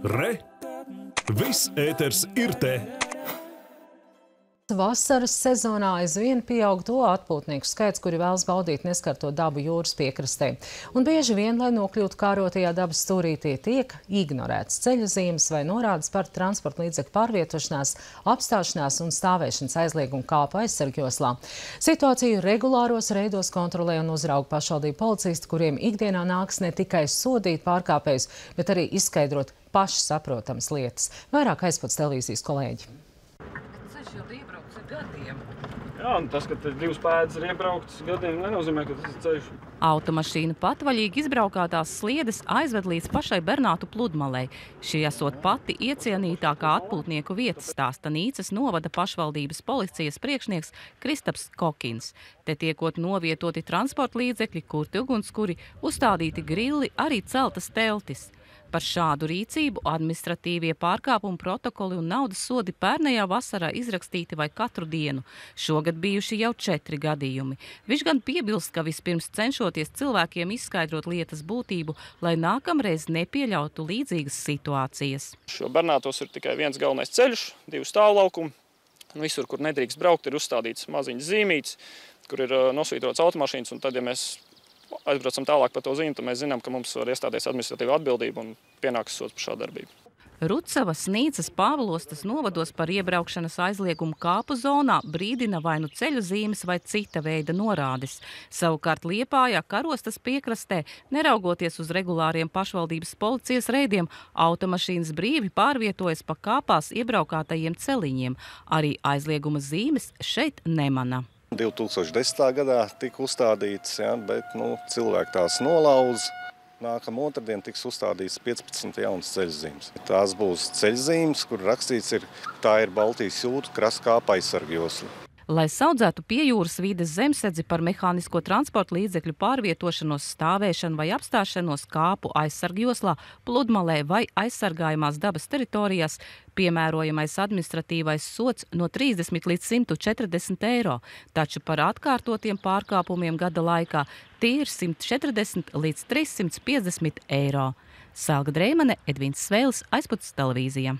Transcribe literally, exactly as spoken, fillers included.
Re! Viss ēters ir te! Vasaras sezonā aizvien pieaug to atpūtnieku skaits, kuri vēlas baudīt neskarto dabu jūras piekrastē. Un bieži vien, lai nokļūtu kārotajā dabas stūrītī, tiek ignorēts ceļazīmes vai norādes par transporta līdzekļu pārvietošanās, apstāšanās un stāvēšanas aizliegumu kāpu aizsargjoslā. Situāciju regulāros reidos kontrolē un uzrauga pašvaldību policisti, kuriem ikdienā nāks ne tikai sodīt pārkāpējus, bet arī izskaidrot paši saprotamas lietas. Vairāk aizpats televīzijas kolēģi. Jā, un tas, ka divas pēdas ir iebrauktas gadiem, nenozīmē, ka tas ir ceļš. Automašīna patvaļīgi izbraukātās sliedes aizved līdz pašai Bernātu pludmalei. Šī esot pati iecienītākā atpūtnieku vieta, stāsta Nīcas novada pašvaldības policijas priekšnieks Kristaps Kokins. Te tiekot novietoti transporta līdzekļi, kurti ugunskuri, uzstādīti grilli, arī celtas teltis. Par šādu rīcību administratīvie pārkāpumu protokoli un naudas sodi pērnējā vasarā izrakstīti vai katru dienu. Šogad bijuši jau četri gadījumi. Viņš gan piebilst, ka vispirms cenšoties cilvēkiem izskaidrot lietas būtību, lai nākamreiz nepieļautu līdzīgas situācijas. Šo Bernātos ir tikai viens galvenais ceļš, divu stāvlaukumu. Visur, kur nedrīkst braukt, ir uzstādīts maziņas zīmītes, kur ir nosvītrots automašīnas, un tad, ja mēs aizbraucam tālāk par to zīmi, tad mēs zinām, ka mums var iestāties administratīva atbildība un pienāks sods par šādu darbību. Rucavas, Nīcas, Pāvilostas novados par iebraukšanas aizliegumu kāpu zonā brīdina vai nu ceļu zīmes vai cita veida norādes. Savukārt Liepājā, Karostas piekrastē, neraugoties uz regulāriem pašvaldības policijas reidiem, automašīnas brīvi pārvietojas pa kāpās iebraukātajiem celiņiem. Arī aizlieguma zīmes šeit nemana. divi tūkstoši desmitā gadā tika uzstādīts, ja, bet nu, cilvēki tās nolauz. Nākamā otrdien tiks uzstādīts piecpadsmit jaunas ceļzīmes. Tās būs ceļzīmes, kur rakstīts ir, tā ir Baltijas jūras krasta kāpa aizsargjosla. Lai saudzētu pie jūras vides zemsedzi par mehānisko transporta līdzekļu pārvietošanos, stāvēšanu vai apstāšanos kāpu aizsargjoslā, pludmalē vai aizsargājumās dabas teritorijās, piemērojamais administratīvais sods no trīsdesmit līdz simt četrdesmit eiro, taču par atkārtotiem pārkāpumiem gada laikā tie ir simt četrdesmit līdz trīs simt piecdesmit eiro. Selga Dreimane, Edvins Svēlis, Aizpats televīzija.